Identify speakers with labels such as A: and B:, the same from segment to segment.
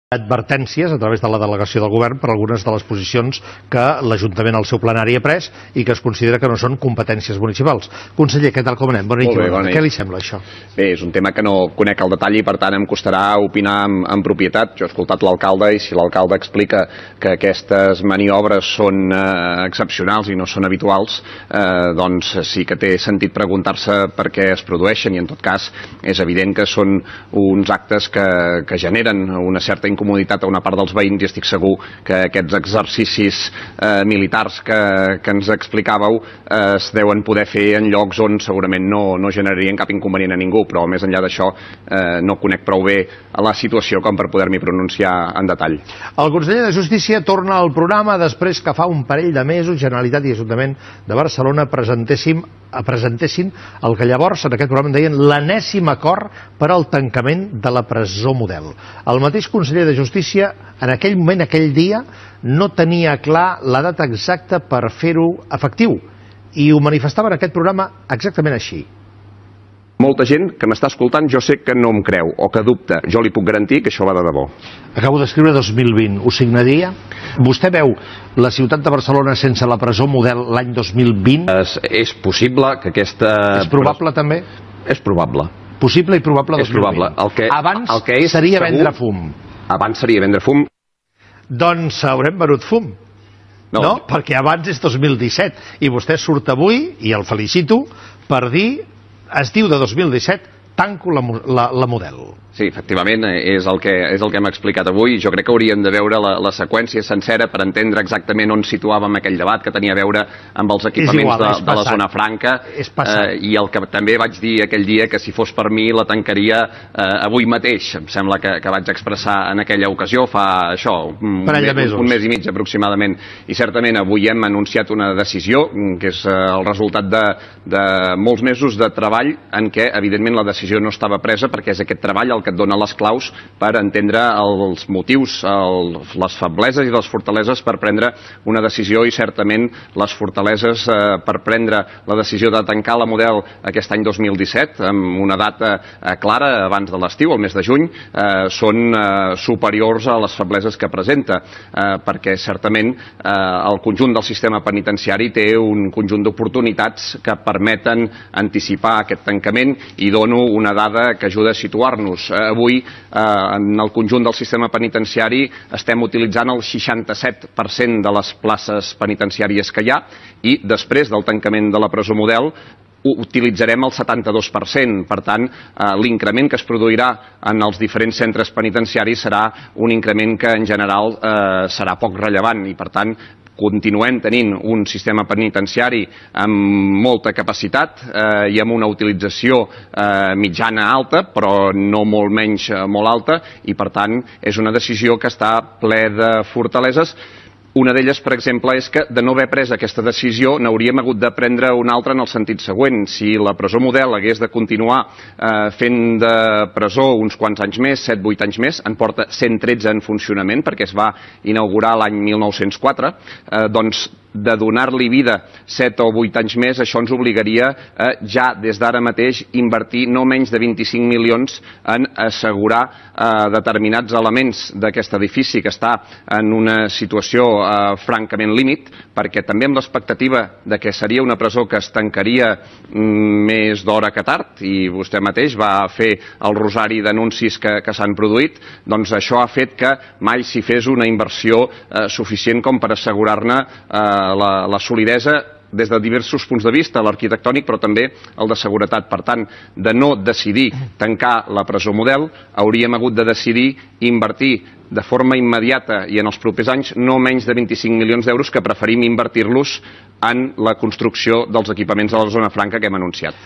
A: advertències a través de la delegació del govern per algunes de les posicions que l'Ajuntament al seu plenari ha pres i que es considera que no són competències municipals. Conseller, què tal, com anem? Bona nit. Què li sembla això?
B: Bé, és un tema que no conec al detall i per tant em costarà opinar en propietat. Jo he escoltat l'alcalde i si l'alcalde explica que aquestes maniobres són excepcionals i no són habituals, doncs sí que té sentit preguntar-se per què es produeixen i en tot cas és evident que són uns actes que generen una certa incomoditat a una part dels veïns i estic segur que aquests exercicis militars que ens explicàveu es deuen poder fer en llocs on segurament no generarien cap inconvenient a ningú, però més enllà d'això no conec prou bé la situació com per poder-m'hi pronunciar en detall.
A: El conseller de Justícia torna al programa després que fa un parell de mesos Generalitat i Ajuntament de Barcelona presentessin el que llavors en aquest programa en deien l'enèsim acord per al tancament de la presó Model. El mateix conseller de Justícia en aquell moment, aquell dia, no tenia clar la data exacta per fer-ho efectiu i ho manifestava en aquest programa exactament així.
B: Molta gent que m'està escoltant jo sé que no em creu o que dubta. Jo li puc garantir que això va de debò.
A: Acabo d'escriure 2020. Ho signaria? Vostè veu la ciutat de Barcelona sense la presó Model l'any 2020?
B: És possible que aquesta...
A: És probable també?
B: És probable.
A: Possible i probable 2020.
B: És probable.
A: Abans seria vendre fum.
B: Abans seria vendre fum.
A: Doncs haurem venut fum. No? Perquè abans és 2017 i vostè surt avui, i el felicito, per dir... Es diu de 2017, tanco la Model.
B: Sí, efectivament, és el que hem explicat avui. Jo crec que hauríem de veure la seqüència sencera per entendre exactament on situàvem aquell debat que tenia a veure amb els equipaments de la zona franca. I el que també vaig dir aquell dia, que si fos per mi la tancaria avui mateix. Em sembla que vaig expressar en aquella ocasió fa això, un mes i mig aproximadament. I certament avui hem anunciat una decisió que és el resultat de molts mesos de treball en què evidentment la decisió no estava presa perquè és aquest treball el que et dona les claus per entendre els motius, les febleses i les fortaleses per prendre una decisió i certament les fortaleses per prendre la decisió de tancar la Model aquest any 2017 amb una data clara abans de l'estiu, el mes de juny, són superiors a les febleses que presenta perquè certament el conjunt del sistema penitenciari té un conjunt d'oportunitats que permeten anticipar aquest tancament i dono una dada que ajuda a situar-nos. Avui, en el conjunt del sistema penitenciari, estem utilitzant el 67% de les places penitenciàries que hi ha i després del tancament de la presó Model utilitzarem el 72%. Per tant, l'increment que es produirà en els diferents centres penitenciaris serà un increment que en general serà poc rellevant i per tant continuem tenint un sistema penitenciari amb molta capacitat i amb una utilització mitjana alta, però no molt menys molt alta, i per tant és una decisió que està ple de fortaleses. Una d'elles, per exemple, és que de no haver pres aquesta decisió n'hauríem hagut de prendre una altra en el sentit següent. Si la presó Model hagués de continuar fent de presó uns quants anys més, 7-8 anys més, en porta 113 en funcionament perquè es va inaugurar l'any 1904, doncs de donar-li vida 7 o 8 anys més, això ens obligaria a ja des d'ara mateix invertir no menys de 25 milions en assegurar determinats elements d'aquest edifici que està en una situació francament límit, perquè també amb l'expectativa de que seria una presó que es tancaria més d'hora que tard, i vostè mateix va fer el rosari d'anuncis que s'han produït, doncs això ha fet que mai s'hi fes una inversió suficient com per assegurar-ne la solidesa des de diversos punts de vista, l'arquitectònic però també el de seguretat. Per tant, de no decidir tancar la presó Model, hauríem hagut de decidir invertir de forma immediata i en els propers anys no menys de 25 milions d'euros que preferim invertir-los en la construcció dels equipaments de la zona franca que hem anunciat.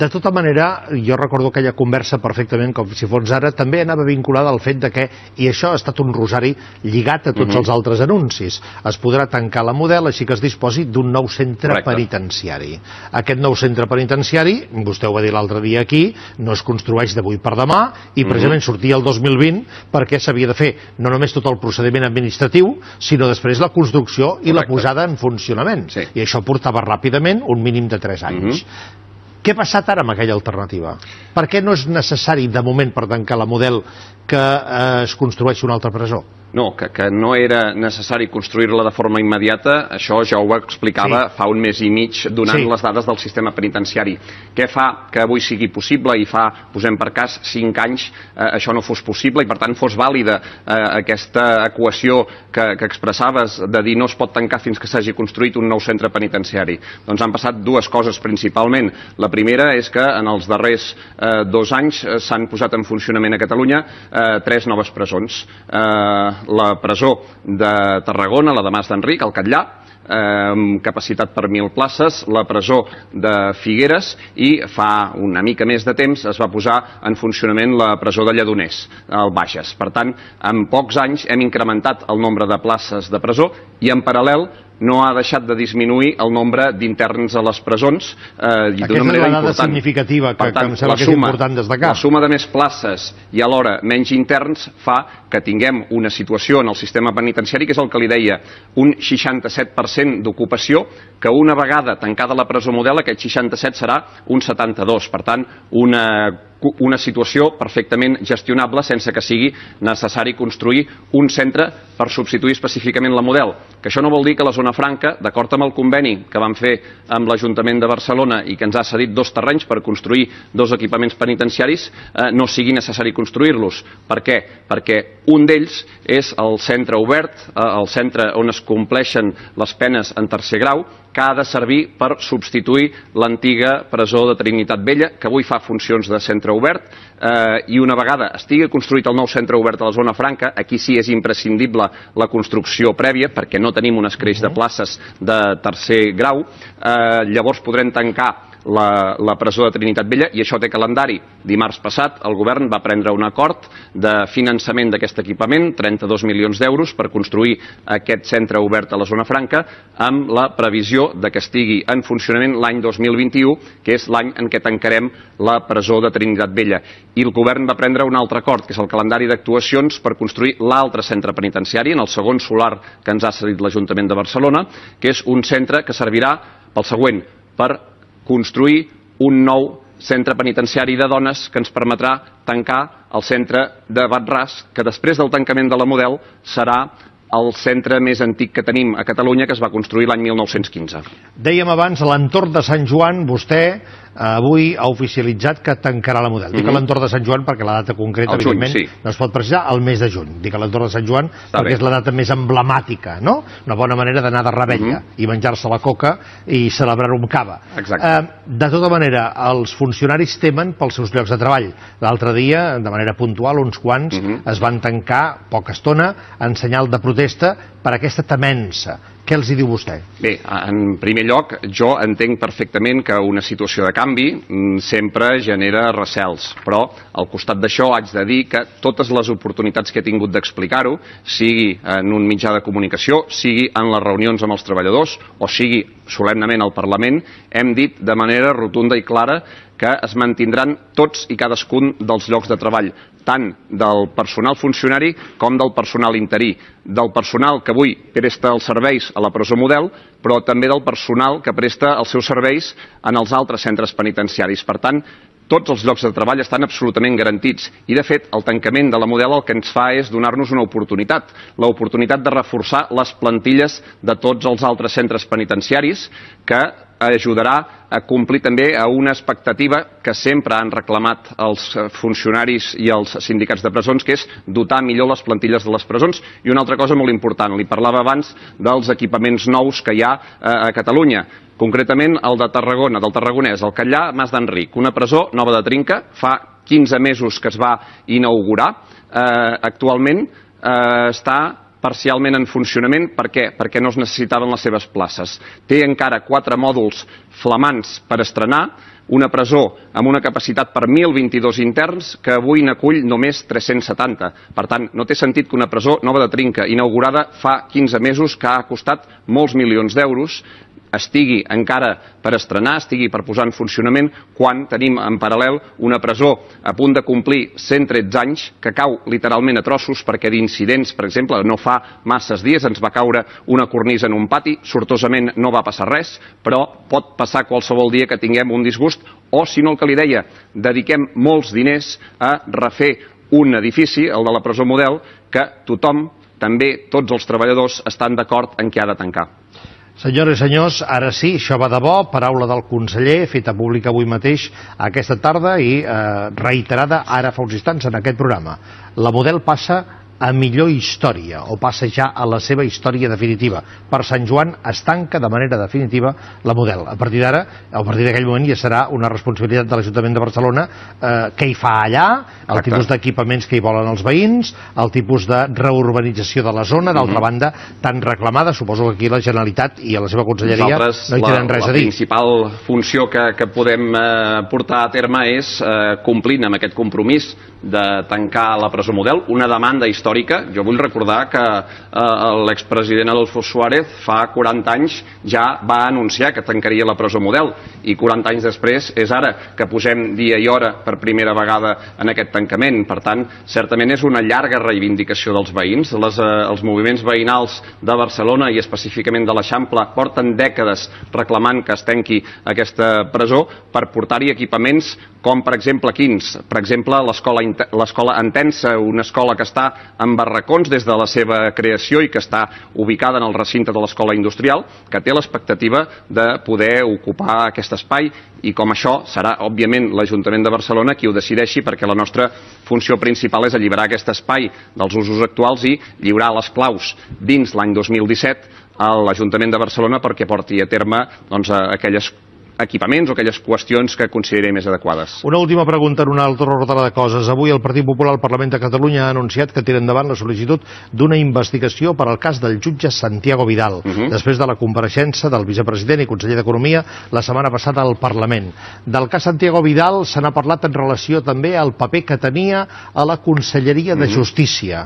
A: De tota manera, jo recordo aquella conversa perfectament com si fos ara, també anava vinculada al fet de que, i això ha estat un rosari lligat a tots els altres anuncis, es podrà tancar la Model així que es disposi d'un nou centre penitenciari. Aquest nou centre penitenciari, vostè ho va dir l'altre dia aquí, no es construeix d'avui per demà i precisament sortia el 2020 perquè s'havia de fer no només tot el procediment administratiu, sinó després la construcció i la posada en funcionament. I això portava ràpidament un mínim de 3 anys. Què ha passat ara amb aquella alternativa? Per què no és necessari, de moment, per tancar la Model, que es construeixi una altra presó?
B: No, que no era necessari construir-la de forma immediata, això ja ho explicava fa un mes i mig donant les dades del sistema penitenciari. Què fa que avui sigui possible i fa, posem per cas, 5 anys això no fos possible i per tant fos vàlida aquesta equació que expressaves de dir no es pot tancar fins que s'hagi construït un nou centre penitenciari? Doncs han passat dues coses principalment. La primera és que en els darrers 2 anys s'han posat en funcionament a Catalunya 3 noves presons. La presó de Tarragona, la de Mas d'Enric, al Catllà, amb capacitat per 1.000 places, la presó de Figueres i fa una mica més de temps es va posar en funcionament la presó de Lledoners, al Bages. Per tant, en pocs anys hem incrementat el nombre de places de presó i en paral·lel no ha deixat de disminuir el nombre d'interns a les presons
A: d'una manera important. Aquesta és la dada significativa que em sembla que és important destacar.
B: La suma de més places i alhora menys interns fa que tinguem una situació en el sistema penitenciari que és el que li deia, un 67% d'ocupació, que una vegada tancada la presó Model aquest 67 serà un 72. Per tant, una situació perfectament gestionable sense que sigui necessari construir un centre per substituir específicament la Model. Que això no vol dir que la Zona Franca, d'acord amb el conveni que vam fer amb l'Ajuntament de Barcelona i que ens ha cedit 2 terrenys per construir 2 equipaments penitenciaris, no sigui necessari construir-los. Per què? Perquè un d'ells és el centre obert, el centre on es compleixen les penes en tercer grau, que ha de servir per substituir l'antiga presó de Trinitat Vella, que avui fa funcions de centre obert, i una vegada estigui construït el nou centre obert a la Zona Franca, aquí sí és imprescindible la construcció prèvia, perquè no tenim un escreix de places de tercer grau, llavors podrem tancar la presó de Trinitat Vella i això té calendari. Dimarts passat el govern va prendre un acord de finançament d'aquest equipament, 32 milions d'euros per construir aquest centre obert a la Zona Franca amb la previsió de que estigui en funcionament l'any 2021, que és l'any en què tancarem la presó de Trinitat Vella. I el govern va prendre un altre acord, que és el calendari d'actuacions per construir l'altre centre penitenciari, en el segon solar que ens ha cedit l'Ajuntament de Barcelona, que és un centre que servirà pel següent, per construir un nou centre penitenciari de dones que ens permetrà tancar el centre de Bat-ras, que després del tancament de la Model serà el centre més antic que tenim a Catalunya, que es va construir l'any 1915.
A: Dèiem abans, a l'entorn de Sant Joan, vostè avui ha oficialitzat que tancarà la Model. Dic a l'entorn de Sant Joan perquè la data concreta, evidentment, no es pot precisar, el mes de juny. Dic a l'entorn de Sant Joan perquè és la data més emblemàtica, no? Una bona manera d'anar de rebella i menjar-se la coca i celebrar-ho amb cava. De tota manera, els funcionaris temen pels seus llocs de treball. L'altre dia, de manera puntual, uns quants es van tancar poca estona en senyal de protesta per aquesta temença. Què els hi diu vostè?
B: Bé, en primer lloc, jo entenc perfectament que una situació de canvi sempre genera recels, però al costat d'això haig de dir que totes les oportunitats que he tingut d'explicar-ho, sigui en un mitjà de comunicació, sigui en les reunions amb els treballadors o sigui solemnament al Parlament, hem dit de manera rotunda i clara que es mantindran tots i cadascun dels llocs de treball, tant del personal funcionari com del personal interí, del personal que avui presta els serveis a la presó Model, però també del personal que presta els seus serveis en els altres centres penitenciaris. Per tant, tots els llocs de treball estan absolutament garantits i, de fet, el tancament de la Model el que ens fa és donar-nos una oportunitat, l'oportunitat de reforçar les plantilles de tots els altres centres penitenciaris, que ajudarà a complir també a una expectativa que sempre han reclamat els funcionaris i els sindicats de presons, que és dotar millor les plantilles de les presons. I una altra cosa molt important, li parlava abans dels equipaments nous que hi ha a Catalunya, concretament el de Tarragona, del Tarragonès, el Catllà, Mas d'Enric, una presó nova de trinca, fa 15 mesos que es va inaugurar, actualment està parcialment en funcionament. Per què? Perquè no es necessitaven les seves places. Té encara 4 mòduls flamants per estrenar, una presó amb una capacitat per 1.022 interns que avui n'acull només 370. Per tant, no té sentit que una presó nova de trinca, inaugurada fa 15 mesos, que ha costat molts milions d'euros, estigui encara per estrenar, estigui per posar en funcionament, quan tenim en paral·lel una presó a punt de complir 113 anys que cau literalment a trossos perquè d'incidents, per exemple, no fa masses dies ens va caure una cornisa en un pati, sortosament no va passar res, però pot passar qualsevol dia que tinguem un disgust o, si no, el que li deia, dediquem molts diners a refer un edifici, el de la presó Model, que tothom, també tots els treballadors, estan d'acord en què ha de tancar.
A: Senyores i senyors, ara sí, això va de bo, paraula del conseller, feta pública avui mateix, aquesta tarda i reiterada ara fa uns instants en aquest programa. La Model passa a millor història, o passa ja a la seva història definitiva. Per Sant Joan es tanca de manera definitiva la Model. A partir d'ara, a partir d'aquell moment ja serà una responsabilitat de l'Ajuntament de Barcelona què hi fa allà, el tipus d'equipaments que hi volen els veïns, el tipus de reurbanització de la zona, d'altra banda, tan reclamada, suposo que aquí la Generalitat i a la seva conselleria no hi tenen res a dir.
B: La principal funció que podem portar a terme és complint amb aquest compromís de tancar la presó Model, una demanda històrica. Jo vull recordar que l'expresident Adolfo Suárez fa 40 anys ja va anunciar que tancaria la presó Model i 40 anys després és ara que posem dia i hora per primera vegada en aquest tancament. Per tant, certament és una llarga reivindicació dels veïns. Els moviments veïnals de Barcelona i específicament de l'Eixample porten dècades reclamant que es tanqui aquesta presó per portar-hi equipaments com, per exemple, quins? Per exemple, l'escola Entença, una escola que està en barracons des de la seva creació i que està ubicada en el recinte de l'escola industrial, que té l'expectativa de poder ocupar aquest espai i com això serà, òbviament, l'Ajuntament de Barcelona qui ho decideixi, perquè la nostra funció principal és alliberar aquest espai dels usos actuals i lliurar les claus dins l'any 2017 a l'Ajuntament de Barcelona perquè porti a terme aquelles equipaments o aquelles qüestions que consideri més adequades.
A: Una última pregunta en una altra ordre de coses. Avui el Partit Popular al Parlament de Catalunya ha anunciat que tira endavant la sol·licitud d'una investigació per al cas del jutge Santiago Vidal, després de la compareixença del vicepresident i conseller d'Economia la setmana passada al Parlament. Del cas Santiago Vidal se n'ha parlat en relació també al paper que tenia a la Conselleria de Justícia.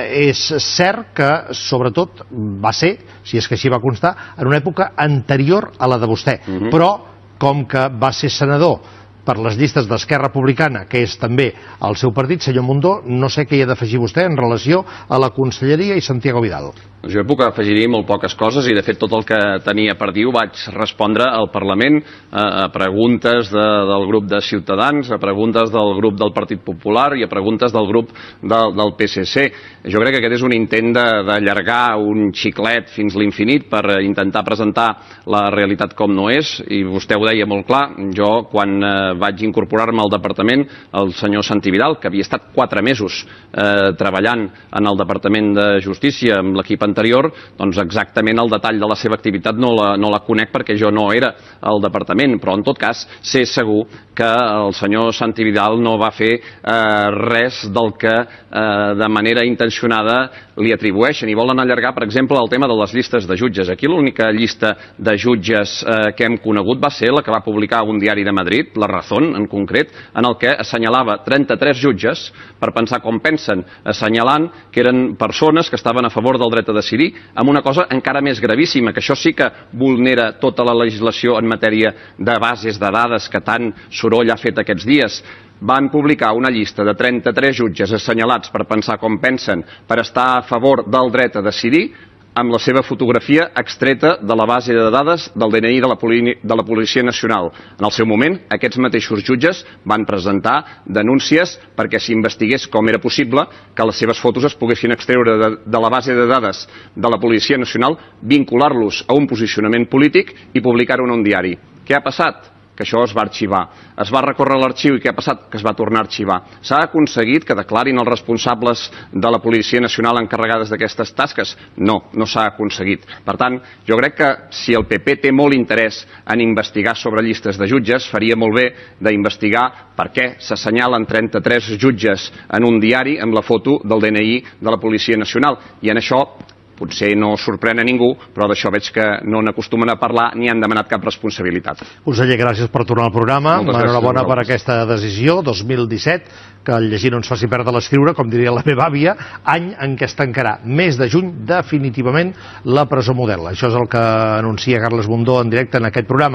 A: És cert que, sobretot, va ser, si és que així va constar, en una època anterior a la de vostè, però com que va ser senador per les llistes d'Esquerra Republicana, que és també el seu partit, senyor Mundó, no sé què hi ha d'afegir vostè en relació a la Conselleria i Santiago Vidal.
B: Jo puc afegir molt poques coses i de fet tot el que tenia per dir ho vaig respondre al Parlament a preguntes del grup de Ciutadans, a preguntes del grup del Partit Popular i a preguntes del grup del PSC. Jo crec que aquest és un intent d'allargar un xiclet fins l'infinit per intentar presentar la realitat com no és i vostè ho deia molt clar. Jo quan vaig incorporar-me al departament, el senyor Santi Vidal, que havia estat 4 mesos treballant en el Departament de Justícia amb l'equip anterior, doncs exactament el detall de la seva activitat no la conec perquè jo no era al departament, però en tot cas sé segur que el senyor Santi Vidal no va fer res del que de manera intencionada li atribueixen i volen allargar, per exemple, el tema de les llistes de jutges. Aquí l'única llista de jutges que hem conegut va ser la que va publicar un diari de Madrid, La Razón, en concret, en el que assenyalava 33 jutges per pensar com pensen, assenyalant que eren persones que estaven a favor del dret a decidir, amb una cosa encara més gravíssima, que això sí que vulnera tota la legislació en matèria de bases de dades que tant soroll ha fet aquests dies. Van publicar una llista de 33 jutges assenyalats per pensar com pensen, per estar a favor del dret a decidir, amb la seva fotografia extreta de la base de dades del DNI de la Policia Nacional. En el seu moment, aquests mateixos jutges van presentar denúncies perquè s'investigués com era possible que les seves fotos es poguessin extreure de la base de dades de la Policia Nacional, vincular-los a un posicionament polític i publicar-ho en un diari. Què ha passat? Que això es va arxivar. Es va recórrer l'arxiu i què ha passat? Que es va tornar a arxivar. S'ha aconseguit que declarin els responsables de la Policia Nacional encarregades d'aquestes tasques? No, no s'ha aconseguit. Per tant, jo crec que si el PP té molt interès en investigar sobre llistes de jutges, faria molt bé d'investigar per què s'assenyalen 33 jutges en un diari amb la foto del DNI de la Policia Nacional. I en això potser no sorprèn a ningú, però d'això veig que no n'acostumen a parlar ni han demanat cap responsabilitat.
A: Conseller, gràcies per tornar al programa. Enhorabona per aquesta decisió, 2017, que el llegir no ens faci perdre l'escriure, com diria la meva àvia, any en què es tancarà, mes de juny, definitivament, la presó Model. Això és el que anuncia Carles Mundó en directe en aquest programa.